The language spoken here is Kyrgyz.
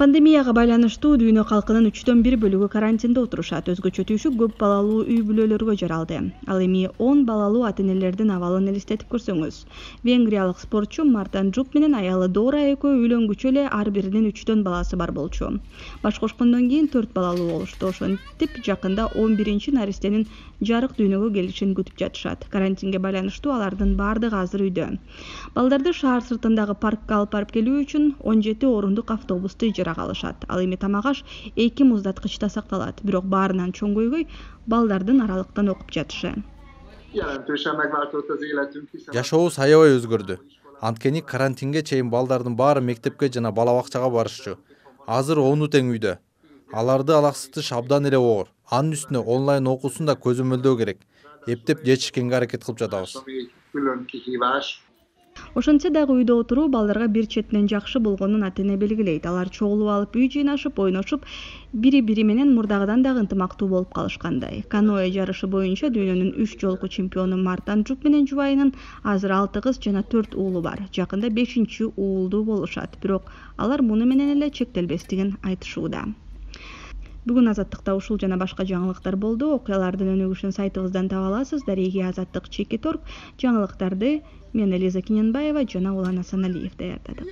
Пандемияга байланыштуу дүйнө калкынын 1/3 бөлүгү карантинде отурушат. Өзгөчө түйшүк көп балалуу үй бүлөлөргө жаралды. Ал эми 10 балалуу ата-энелердин абалын элестетип көрсөңүз. Венгриялык спортчу Мартан Джуп менен аялы Дора экөө үйлөнгүчө эле ар биринин 3 баласы бар болчу. Баш кошкондон кийин 4 балалуу болушту. Ошентип жакында 11-наристенин жарык дүйнөгө келишин күтүп жатышат. Карантинге байланыштуу алардын бардыгы азыр үйдө. Балдарды шаар сыртындагы паркка алып барып келүү үчүн 17 орундук автобусту ижарага алышат. Ал эми тамак-аш 2 муздаткычта сакталат. Бирок баарынан чоң көйгөй балдардын аралыктан окуп жатышы. Жашообуз аябай өзгөрдү. Анткени карантинге чейин балдардын баары мектепке жана бала бакчага барышчу. Азыр ону тең үйдө. Аларды алаксытыш абдан эле оор. Анын үстүнө онлайн окуусун да көзөмөлдөө керек. Эптеп жетишкенге аракет кылып жатабыз. Ошентсе дагы үйдө отуруу балдарга бир четинен жакшы болгонун ата-эне белгилейт. Алар чогулуп алып үй жыйнашып, ойношуп, бири-бири менен мурдагыдан дагы ынтымактуу болуп калышкандай. Каноэ жарышы боюнча дүйнөнүн 3 жолку чемпиону Мартан Джуп менен жубайынын азыр 6 кыз жана 4 уулу бар. Жакында 5-уулдуу болушат. Бирок алар муну менен эле чектелбестигин айтышууда. Бүгүн Азаттыкта ушул жана башка жаңылыктар болду. Окуялардын өнүгүшүн сайтыбыздан таба аласыз. Дареги Азаттык @org. Жаңылыктарды мен Элиза Киненбаева жана Улан Асаналиев даярдадык.